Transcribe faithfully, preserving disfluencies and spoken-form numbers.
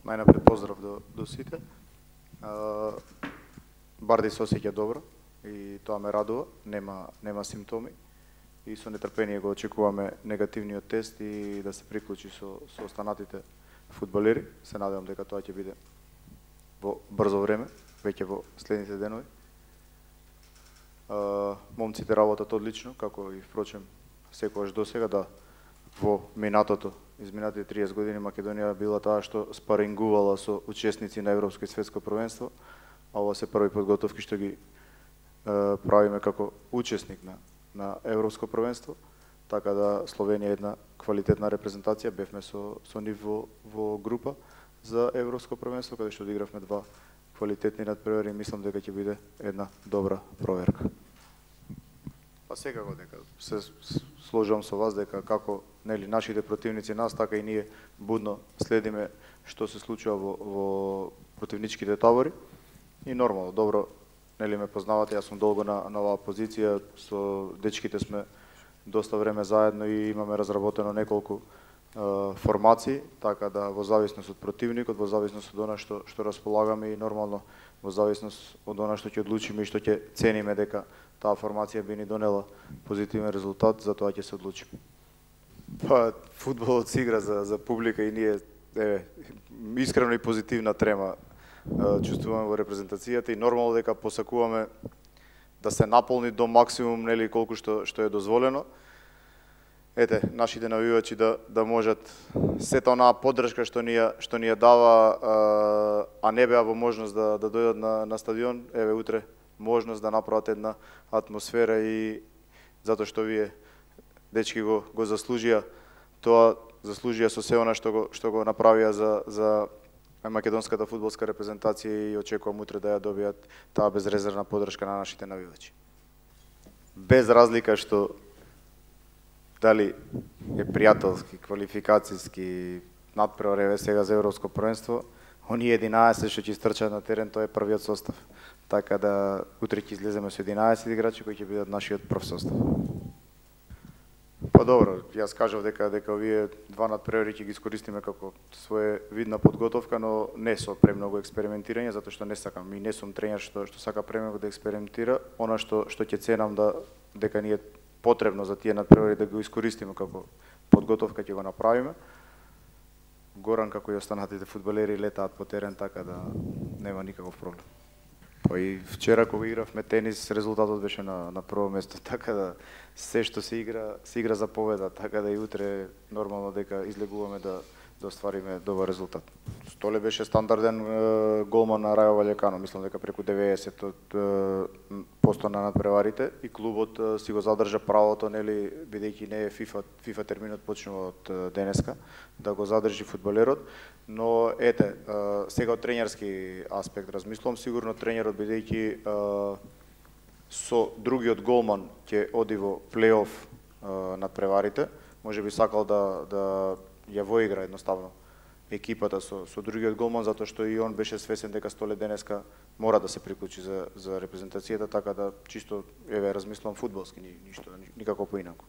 најнапред поздрав до, до сите. А, Барди се осеќа добро и тоа ме радува, нема, нема симптоми и со нетрпение го очекуваме негативниот тест и да се приклучи со, со останатите фудбалери. Се надевам дека тоа ќе биде во брзо време, веќе во следните денови. А, момците работат одлично, како и впрочем секогаш досега, да во минатото, изминатите триесет години Македонија била таа што спарингувала со учесници на Европско и Светско првенство, а ова се први подготовки што ги е, правиме како учесник на, на Европско првенство, така да Словенија е една квалитетна репрезентација, бевме со, со нив во, во група за Европско првенство, каде што одигравме два квалитетни надпревари и мислам дека ќе биде една добра проверка. Па секако дека се сложувам со вас дека како нели нашите противници нас, така и ние будно следиме што се случува во, во противничките табори и нормално добро нели ме познавате, јас сум долго на, на оваа позиција, со дечките сме доста време заедно и имаме разработено неколку е, формации, така да во зависност од противникот, во зависност од она што што располагаме и нормално во зависност од она што ќе одлучиме и што ќе цениме дека таа формација би ни донела позитивен резултат, за тоа ќе се одлучиме. Па, фудбалот се игра за, за публика и ние е, искрено и позитивна трема е, чувствуваме во репрезентацијата и нормално дека посакуваме да се наполни до максимум, нели колку што што е дозволено. Ете, нашите навивачи да да можат сета онаа поддршка што ни ја што ни ја дава, а не беа во можност да да дојдат на на стадион, еве утре можност да направат една атмосфера и затоа што вие дечки го го заслужија тоа, заслужија со се она што го што го направија за за македонската фудбалска репрезентација и очекувам утре да ја добијат таа безрезервна поддршка на нашите навивачи. Без разлика што дали е пријателски, квалификацијски надпревар еве сега за Европско првенство, оние единаесет што ќе стрчат на терен, тоа е првиот состав. Така да утре ќе излеземе со единаесет играчи кои ќе бидат нашиот прв состав. Па добро, јас кажав дека дека овие два надпревари ќе ги искористиме како своја видна подготовка, но не со премногу експериментирање, затоа што не сакам и не сум тренер што што сака премногу да експериментира. Она што што ќе ценам да дека ни е потребно за тие надпревари да го искористиме како подготовка, ќе го направиме. Горан како и останатите фудбалери летаат по терен, така да нема никаков проблем. Па и вчера кога игравме тенис, резултатот беше на на прво место, така да се што се игра, се игра за победа, така да и утре нормално дека излегуваме да да оствариме добар резултат. Столе беше стандарден е, голман на Рајо Ваљекано, мислам дека преку деветдесет посто на надпреварите и клубот е, си го задржа правото, нели, бидејќи не е FIFA, FIFA терминот почнува од денеска, да го задржи фудбалерот, но ете, е, сега од тренерски аспект размислувам, сигурно тренерот бидејќи со другиот голман ќе оди во плей-оф надпреварите, можеби сакал да да ја воигра едноставно екипата со со другиот голман, затоа што и он беше свесен дека Столе денеска мора да се приклучи за за репрезентацијата, така да чисто еве размислувам фудбалски, ништо никако поинаку.